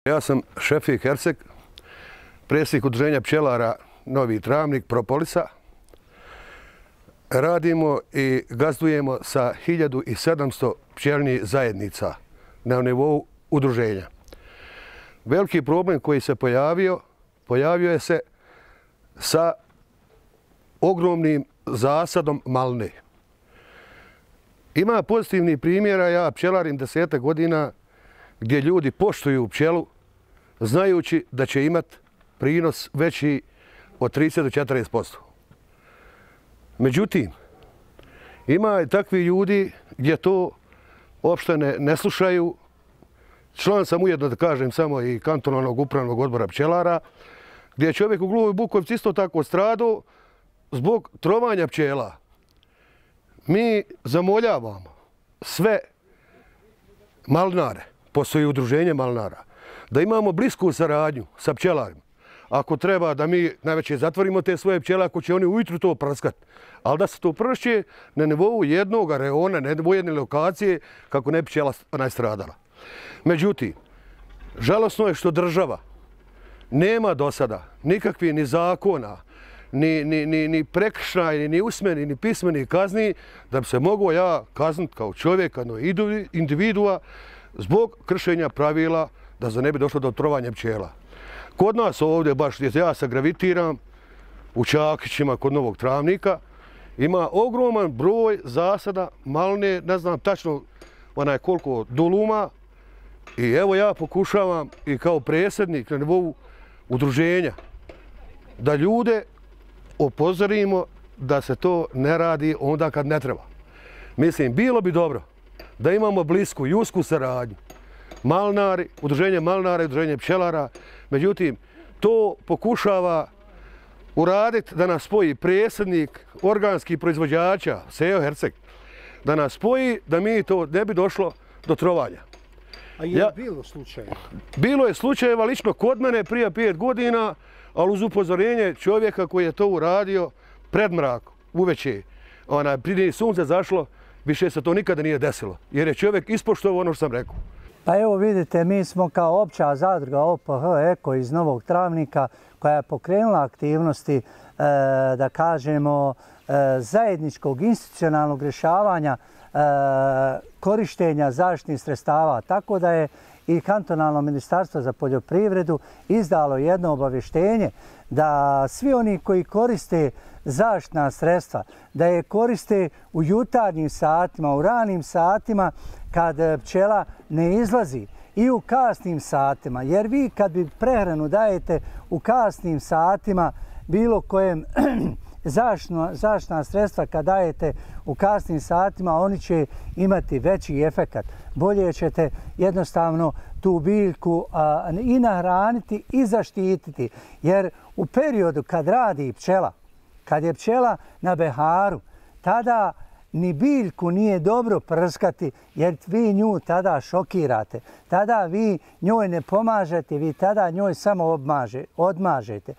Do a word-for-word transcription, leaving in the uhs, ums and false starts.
Ja sam Šefik Herceg, predsjednik udruženja pčelara Novi Travnik, Propolisa. Radimo i gazdujemo sa hiljadu sedamsto pčelnih zajednica na nivou udruženja. Veliki problem koji se pojavio, pojavio je se sa ogromnim zasadom malne. Ima pozitivnih primjera, ja pčelarim desetak godina gdje ljudi poštuju pčelu znajući da će imati prinos veći od trideset do četrdeset posto. Međutim, ima i takvi ljudi gdje to uopšte ne, ne slušaju. Član sam ujedno, da kažem, samo i kantonalnog upravnog odbora pčelara, gdje je čovjek u Gluvoj Bukovici isto tako stradao zbog trovanja pčela. Mi zamoljavamo sve malnare, postoji udruženje malnara, da imamo blisku saradnju sa pčelarima. Ako treba da mi najveće zatvorimo te svoje pčele, ako će oni ujutru to prskati, ali da se to pršće na nivou jednog reona, na nivou jedne lokacije, kako ne bi pčela nastradala. Međutim, žalosno je što država nema do sada nikakvih ni zakona, ni, ni, ni, ni prekršajni, ni usmeni, ni pismeni kazni, da bi se mogao ja kazniti kao čovjek, kao individua, zbog kršenja pravila da za ne bi došlo do trovanja pčela. Kod nas ovdje, baš gdje ja se gravitiram, u Čakićima, kod Novog Travnika, ima ogroman broj zasada malne, ne znam tačno onaj koliko duluma. I evo ja pokušavam i kao predsjednik na nivou udruženja da ljude upozorimo da se to ne radi onda kad ne treba. Mislim, bilo bi dobro da imamo blisku i usku saradnju. Malnari, udruženje malnara i udruženje pčelara. Međutim, to pokušava uraditi da nas spoji predsjednik organskih proizvođača, Sejo Herceg, da nas spoji da mi to ne bi došlo do trovanja. A je li bilo slučajeva? Bilo je slučajeva lično kod mene prije pet godina, ali uz upozorenje čovjeka koji je to uradio pred mrak, uveče. Prije sunce zašlo, više se to nikada nije desilo, jer je čovjek ispoštovao ono što sam rekao. Pa evo vidite, mi smo kao opća zadruga O P H Eko iz Novog Travnika koja je pokrenula aktivnosti, da kažemo, zajedničkog institucionalnog rješavanja korištenja zaštitnih sredstava. Tako da je i kantonalno ministarstvo za poljoprivredu izdalo jedno obavještenje da svi oni koji koriste zaštitna sredstva, da je koriste u jutarnjim satima, u ranim satima kad pčela ne izlazi i u kasnim satima. Jer vi kad bi prehranu dajete u kasnim satima bilo kojem zaštitna sredstva kad dajete u kasnim satima, oni će imati veći efekat. Bolje ćete jednostavno tu biljku a, i nahraniti i zaštititi. Jer u periodu kad radi pčela, kad je pčela na beharu, tada ni biljku nije dobro prskati jer vi nju tada šokirate. Tada vi njoj ne pomažete, vi tada njoj samo obmaže, odmažete.